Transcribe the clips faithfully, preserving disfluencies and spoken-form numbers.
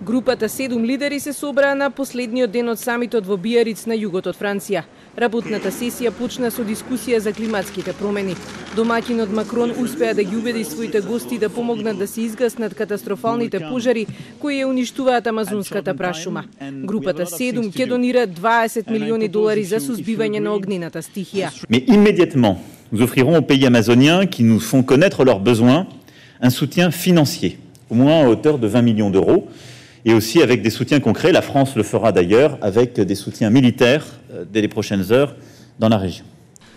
Групата седум лидери се собраа на последниот ден од самитот во Биариц на југот од Франција. Работната сесија почна со дискусија за климатските промени. Домаќинот Макрон успеа да ги убеди своите гости да помогнат да се изгаснат катастрофалните пожари кои ја уништуваат амазонската прашума. Групата седум ќе донира дваесет милиони долари за сузбивање на огнената стихија. Mais immédiatement, nous offrirons aux pays amazoniens qui nous font connaître leurs besoins un soutien financier, au moins à hauteur de vingt millions d'euros. Et aussi avec des soutiens concrets. La France le fera d'ailleurs avec des soutiens militaires dès les prochaines heures dans la région.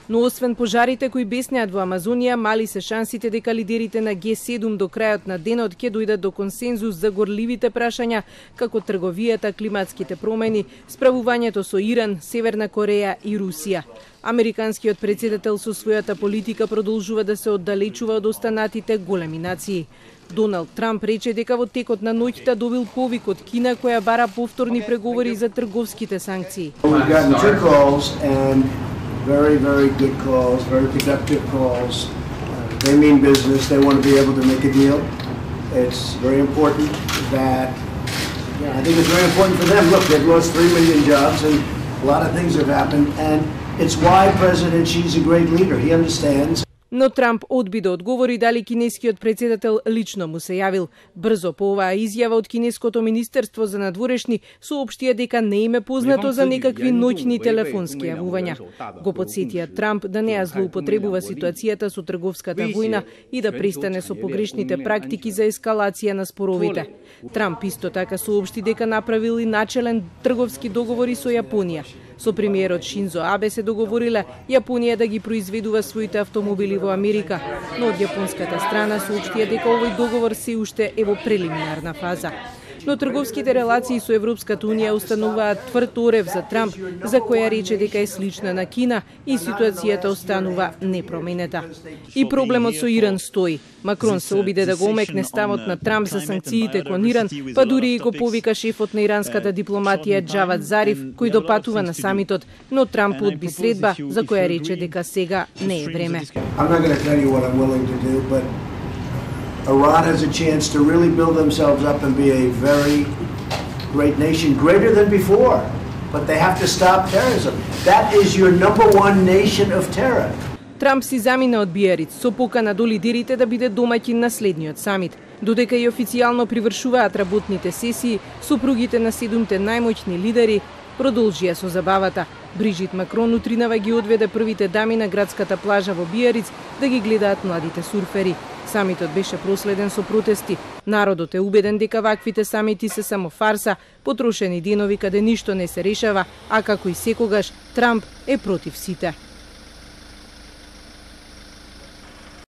Но освен пожарите кои беснеат во Амазонија, мали се шансите дека лидерите на Г седум до крајот на денот ќе дојдат до консензус за горливите прашања како трговијата, климатските промени, справувањето со Иран, Северна Кореја и Русија. Американскиот претседател со својата политика продолжува да се оддалечува од останатите големи нации. Доналд Трамп рече дека во текот на ноќта добил повик од Кина која бара повторни преговори за трговските санкции. Very, very good calls, very productive calls. Uh, they mean business. They want to be able to make a deal. It's very important that, yeah, I think it's very important for them. Look, they've lost three million jobs and a lot of things have happened. And it's why President Xi's a great leader. He understands. Но Трамп одби да одговори дали кинескиот претседател лично му се јавил. Брзо по оваа изјава од кинеското министерство за надворешни соопштија дека не им е познато за некакви ноќни телефонски јавувања. Го потсетија Трамп да не ја злоупотребува ситуацијата со трговската војна и да престане со погрешните практики за ескалација на споровите. Трамп исто така соопшти дека направил и начелен трговски договори со Јапонија. Со премиерот Шинзо Абе се договорила Јапонија да ги произведува своите автомобили во Америка, но од јапонската страна соопштија дека овој договор се уште е во прелиминарна фаза. Но трговските релации со Европската Унија установуваат тврд орев за Трамп, за која рече дека е слична на Кина и ситуацијата останува непроменета. И проблемот со Иран стои. Макрон се обиде да го омекне ставот на Трамп за санкциите кон Иран, па дури и го повика шефот на иранската дипломатија Џавад Зариф, кој допатува на самитот, но Трамп одби средба за која рече дека сега не е време. Iran has a chance to really build themselves up and be a very great nation, greater than before. But they have to stop terrorism. That is your number one nation of terror. Трамп си замина од Биариц со покана до лидерите да биде домаќин на следниот самит. Додека и официјално привршуваат работните сесии, супругите на седумте најмоćни лидери продолжија со забавата. Брижит Макрон утринава ги одведе првите дами на градската плажа во Биариц да ги гледаат младите сурфери. Самитот беше проследен со протести. Народот е убеден дека ваквите самити се само фарса, потрошени денови каде ништо не се решава, а како и секогаш Трамп е против сите.